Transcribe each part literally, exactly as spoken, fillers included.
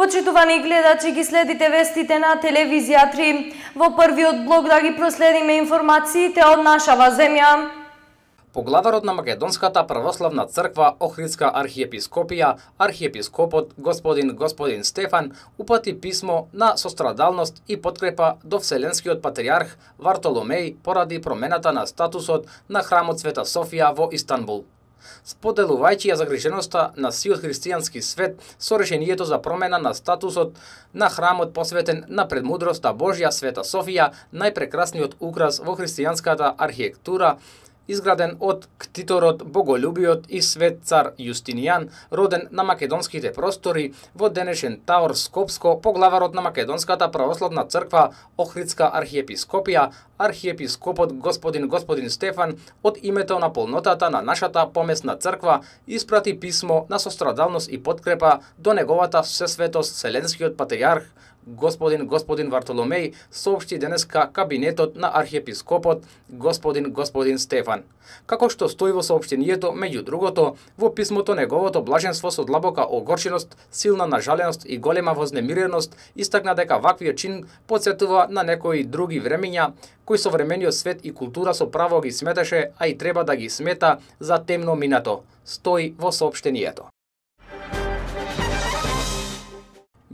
Почитувани гледачи, ги следите вестите на телевизија три. Во првиот блок да ги проследиме информациите од нашава земја. Поглаварот на Македонската православна црква Охридска архиепископија, архиепископот господин господин Стефан, упати писмо на сострадалност и подкрепа до Вселенскиот патриарх Вартоломеј поради промената на статусот на храмот Света Софија во Истанбул. Споделувајќи ја загриженоста на сиот христијански свет со решението за промена на статусот на храмот посветен на предмудроста Божја Света Софија, најпрекрасниот украс во христијанската архитектура, изграден од ктиторот, боголюбиот и свет цар Јустинијан, роден на македонските простори во денешен Таор Скопско, поглаварот на Македонската православна црква Охридска архиепископија, архиепископот господин господин Стефан, од името на полнотата на нашата помесна црква, испрати писмо на сострадалност и подкрепа до неговата всесветост Вселенскиот патриарх господин господин Вартоломеј, соопшти денеска кабинетот на архиепископот господин господин Стефан. Како што стои во соопштението, меѓу другото, во писмото неговото блаженство со длабока огорченост, силна нажаленост и голема вознемиреност истакна дека ваквиот чин потсетува на некои други времиња кои современиот свет и култура со право ги сметаше, а и треба да ги смета за темно минато, стои во соопштението.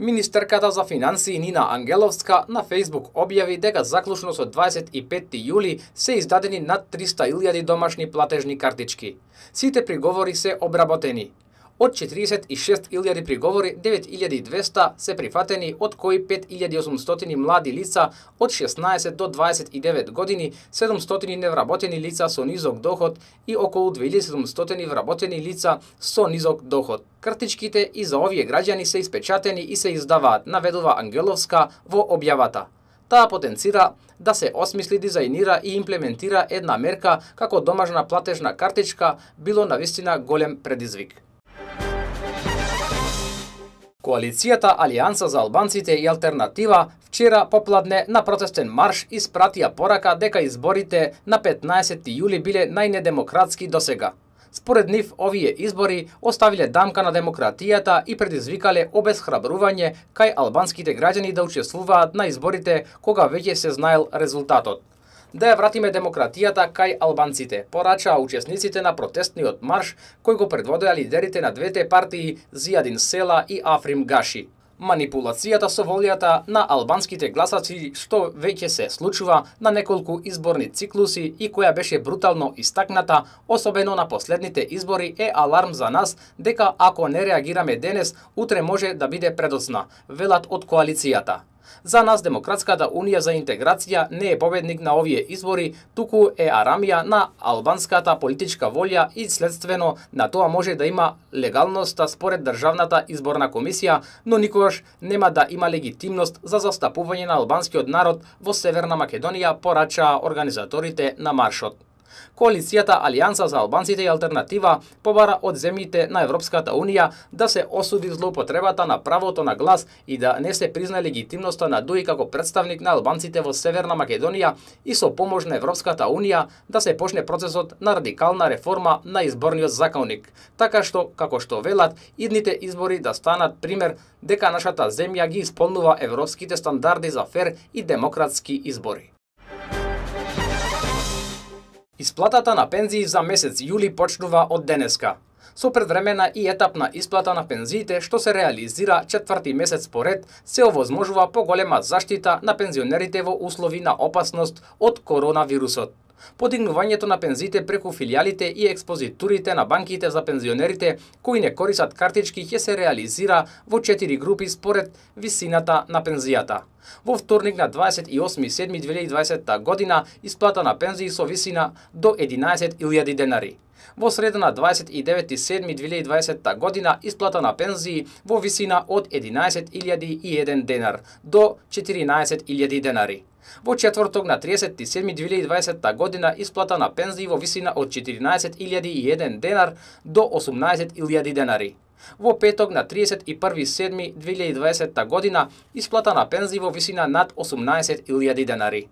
Министерката за финансии Нина Ангеловска на Facebook објави дека заклучно со дваесет и петти јули се издадени над триста илјади домашни платежни картички. Сите приговори се обработени. Од четиридесет и шест илјади приговори, девет илјади и двесте се прифатени, од кои пет илјади и осумстотини млади лица од шеснаесет до дваесет и девет години, седумстотини невработени лица со низок доход и околу две илјади седумстотини вработени лица со низок доход. Картичките и за овие граѓани се испечатени и се издаваат, наведува Ангеловска во објавата. Таа потенцира да се осмисли, дизајнира и имплементира една мерка како домашна платежна картичка било навистина голем предизвик. Коалицијата Алијанса за албанците и Алтернатива вчера попладне на протестен марш испратија порака дека изборите на петнаесетти јули биле најнедемократски досега. Според нив, овие избори оставиле дамка на демократијата и предизвикале обесхрабрување кај албанските граѓани да учествуваат на изборите кога веќе се знаел резултатот. Да ја вратиме демократијата кај албанците, порачаа учесниците на протестниот марш кој го предводеа лидерите на двете партии Зијадин Села и Африм Гаши. Манипулацијата со волјата на албанските гласачи, што веќе се случува на неколку изборни циклуси и која беше брутално истакната, особено на последните избори, е аларм за нас дека ако не реагираме денес, утре може да биде предоцна, велат од коалицијата. За нас Демократската унија за интеграција не е победник на овие избори, туку е арамија на албанската политичка волја и следствено на тоа може да има легалноста според Државната изборна комисија, но никогаш нема да има легитимност за застапување на албанскиот народ во Северна Македонија, порачаа организаторите на маршот. Коалицијата Алијанса за албанците и Алтернатива побара од земјите на Европската унија да се осуди злоупотребата на правото на глас и да не се призна легитимноста на ДУИ како представник на албанците во Северна Македонија и со помош на Европската унија да се почне процесот на радикална реформа на изборниот законник, така што, како што велат, идните избори да станат пример дека нашата земја ги исполнува европските стандарди за фер и демократски избори. Исплатата на пензии за месец јули почнува од денеска. Со предвремена и етапна исплата на пензиите, што се реализира четврти месец поред, се овозможува поголема заштита на пензионерите во услови на опасност од коронавирусот. Подигнувањето на пензиите преку филијалите и експозитурите на банките за пензионерите кои не користат картички ќе се реализира во четири групи според висината на пензијата. Во вторник на дваесет и осми јули две илјади и дваесетта година исплата на пензии со висина до единаесет илјади денари. Во среда на дваесет и девети јули две илјади и дваесетта година исплата на пензии во висина од единаесет илјади и еден денар до четиринаесет илјади денари. Во четврток на триесетти седми две илјади и дваесетта година исплата на пензии во висина од четиринаесет илјади и еден денар до осумнаесет илјади денари. Во петок на триесет и први седми две илјади и дваесетта година исплата на пензии во висина над осумнаесет илјади денари.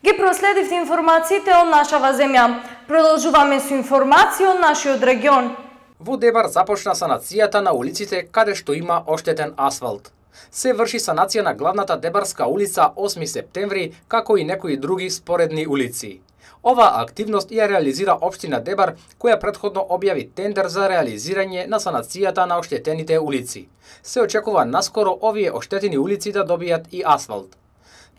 Ги проследивте информациите од нашава земја. Продолжуваме со информации од нашиот регион. Во Дебар започна санацијата на улиците каде што има оштетен асфалт. Се врши санација на главната Дебарска улица осми септември, како и некои други споредни улици. Оваа активност ја реализира општина Дебар, која претходно објави тендер за реализирање на санацијата на оштетените улици. Се очекува наскоро овие оштетени улици да добијат и асфалт.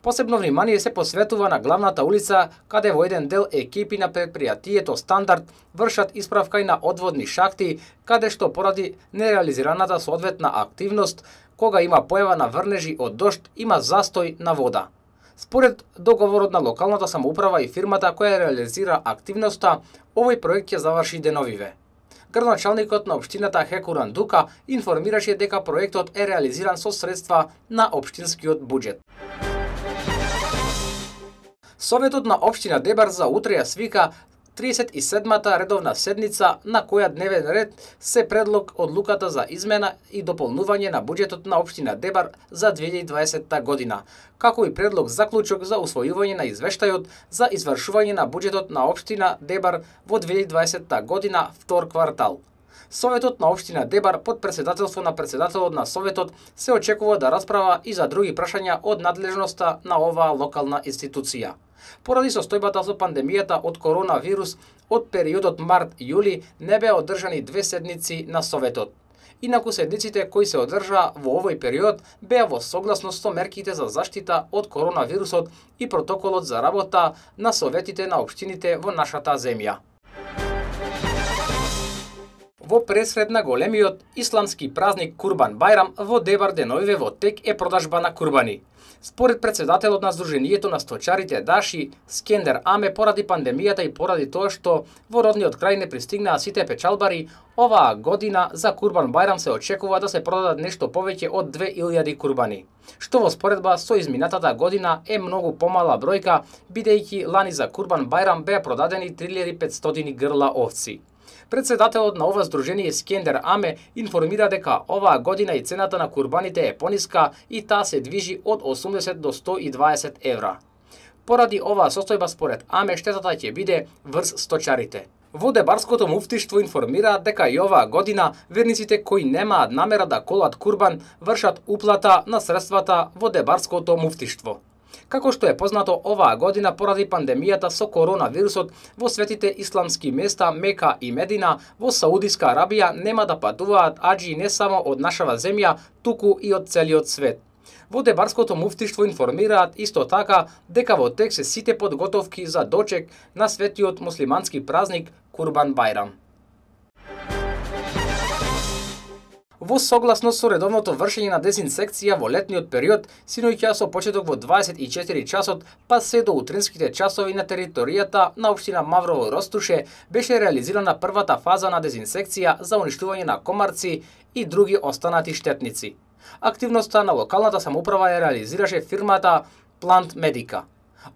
Посебно внимание се посветува на главната улица, каде во еден дел екипи на предпријатието Стандард вршат исправка и на одводни шахти, каде што поради нереализираната соодветна активност, кога има појава на врнежи од дожд, има застој на вода. Според договорот на локалната самоуправа и фирмата која реализира активноста, овој проект ќе заврши деновиве. Градоначалникот на општината Хекуран Дука информираше дека проектот е реализиран со средства на општинскиот буџет. Советот на општина Дебар за утре ја свика тридесет и седмата редовна седница, на која дневен ред се предлог одлуката за измена и дополнување на буџетот на општина Дебар за две илјади и дваесетта година, како и предлог заклучок за усвојување на извештајот за извршување на буџетот на општина Дебар во две илјади и дваесетта година втор квартал. Советот на општина Дебар под претседателство на претседателот на Советот се очекува да расправа и за други прашања од надлежноста на оваа локална институција. Поради состојбата со пандемијата од коронавирус, од периодот март-јули не беа одржани две седници на Советот. Инаку седниците кои се одржаа во овој период беа во согласност со мерките за заштита од коронавирусот и протоколот за работа на советите на општините во нашата земја. Во пресред на големиот исламски празник Курбан Бајрам во Дебар деновиве во тек е продажба на курбани. Според претседателот на Сдруженијето на сточарите Даши Скендер Аме, поради пандемијата и поради тоа што во родниот крај не пристигнаа сите печалбари, оваа година за Курбан Бајрам се очекува да се продадат нешто повеќе од две илјади курбани, што во споредба со изминатата година е многу помала бројка, бидејќи лани за Курбан Бајрам беа продадени три илјади и петстотини грла овци. Председателот на ова здружение Скендер Аме информира дека оваа година и цената на курбаните е пониска и таа се движи од осумдесет до сто и дваесет евра. Поради оваа состојба според Аме штетата ќе биде врз сточарите. Во Дебарското муфтиштво информираат дека и оваа година верниците кои немаат намера да колат курбан вршат уплата на средствата во Дебарското муфтиштво. Како што е познато, оваа година поради пандемијата со коронавирусот во светите исламски места Мека и Медина во Саудиска Арабија нема да патуваат аџии не само од нашава земја, туку и од целиот свет. Во Дебарското муфтиштво информираат исто така дека во тек се сите подготовки за дочек на светиот муслимански празник Курбан Бајрам. Во согласност со редовното вршење на дезинсекција во летниот период, синоќа со почеток во дваесет и четири часот, па се до утринските часови на територијата на општина Маврово Ростуше, беше реализирана првата фаза на дезинсекција за уништување на комарци и други останати штетници. Активноста на локалната самоуправа ја реализираше фирмата Плант Медика.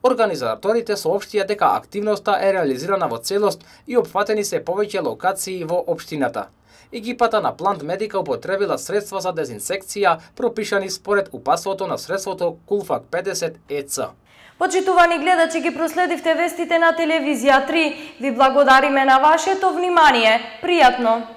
Организаторите соопштија дека активноста е реализирана во целост и опфатени се повеќе локации во општината. Екипата на Плант Медика употребила средства за дезинсекција пропишани според упатството на средството Кулфак педесет Е Ц. Почитувани гледачи, ги проследивте вестите на телевизија три. Ви благодариме на вашето внимание. Пријатно!